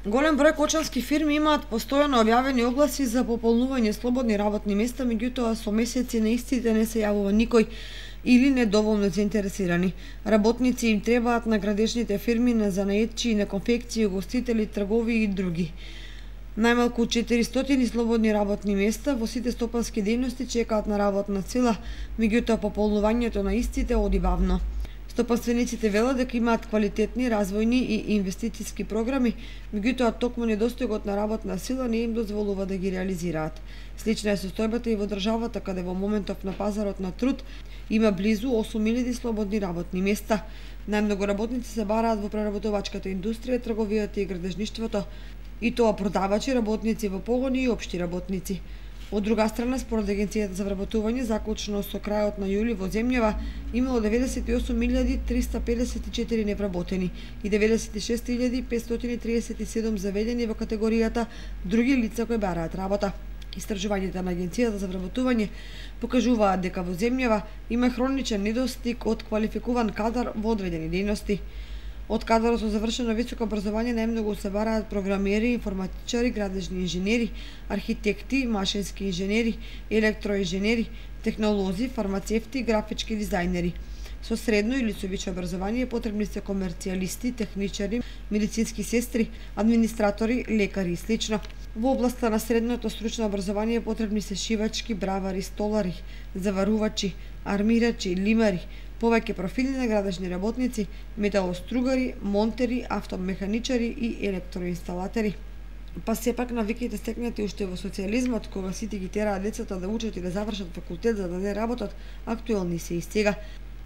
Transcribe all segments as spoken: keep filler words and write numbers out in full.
Голем број кочански фирми имаат постојано објавени огласи за пополнување слободни работни места, меѓутоа со месеци на истите не се јавува никој или недоволно заинтересирани. Работници им требаат на градешните фирми, на занаетчи, на конфекции, угостители, тргови и други. Најмалку четиристотини слободни работни места во сите стопански дејности чекаат на работна сила, меѓутоа пополнувањето на истите оди бавно. Стопанствениците велат дека имаат квалитетни, развојни и инвестициски програми, меѓутоа токму недостојгот на работна сила не им дозволува да ги реализираат. Слична е состојбата и во државата, каде во моментов на пазарот на труд има близу осум илјади слободни работни места. Најмногу работници се бараат во преработувачката индустрија, трговијата и градежништвото, и тоа продавачи, работници во погони и општи работници. Од друга страна, според Агенцијата за вработување, заклучно со крајот на јули во земјава имало деветдесет и осум илјади триста педесет и четири невработени и деветдесет и шест илјади петстотини триесет и седум заведени во категоријата други лица кои бараат работа. Истражувањата на Агенцијата за вработување покажуваат дека во земјава има хроничен недостиг од квалификуван кадар во одредени дејности. Од кадарот со завршено високо образование најмногу се бараат програмери, информатичари, градежни инженери, архитекти, машински инженери, електроинженери, технолози, фармацевти, графички дизајнери. Со средно или со висше образование потребни се комерцијалисти, техничари, медицински сестри, администратори, лекари и слично. Во областа на средното стручно образование потребни се шивачки, бравари, столари, заварувачи, армирачи, лимари, повеќе профили на градежни работници, металостругари, монтери, автомеханичари и електроинсталатери. Па сепак навиките стекнати уште во социјализмот, кога сите ги тераат децата да учат и да завршат факултет за да не работат, актуелни се и сега.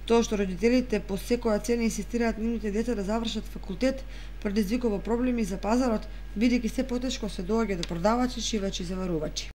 Тоа што родителите по секоја цена инсистираат нивните деца да завршат факултет, предизвикува проблеми за пазарот, бидејќи се потешко се доаѓа до продавачи, шивачи и заварувачи.